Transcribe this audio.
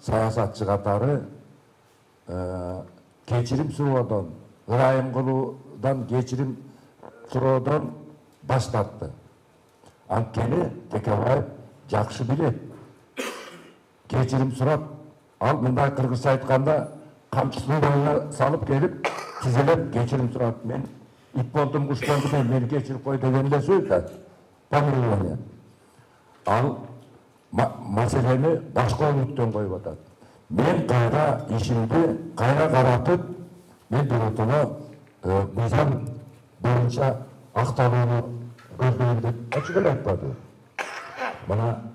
саясатчы катары кечирим суроодон, ырайым кылуудан, кечирим суроодон баш тартты. Анткени Текебаев жакшы билет. Кечирим сурап, ал мындай кыргызча айтканда камчысын боюна салып келип, тизелеп кечирим сурап, мен ит болдум, куш болдум, мени кечирип кой деген эле сөз да. Помилование. Ал маселени башка өнүктөн коюп атат. Мен кайра ишимди кайра каратып, мен биротоно мыйзам боюнча акталууну көздөйм деп ачык эле айтпады. Мына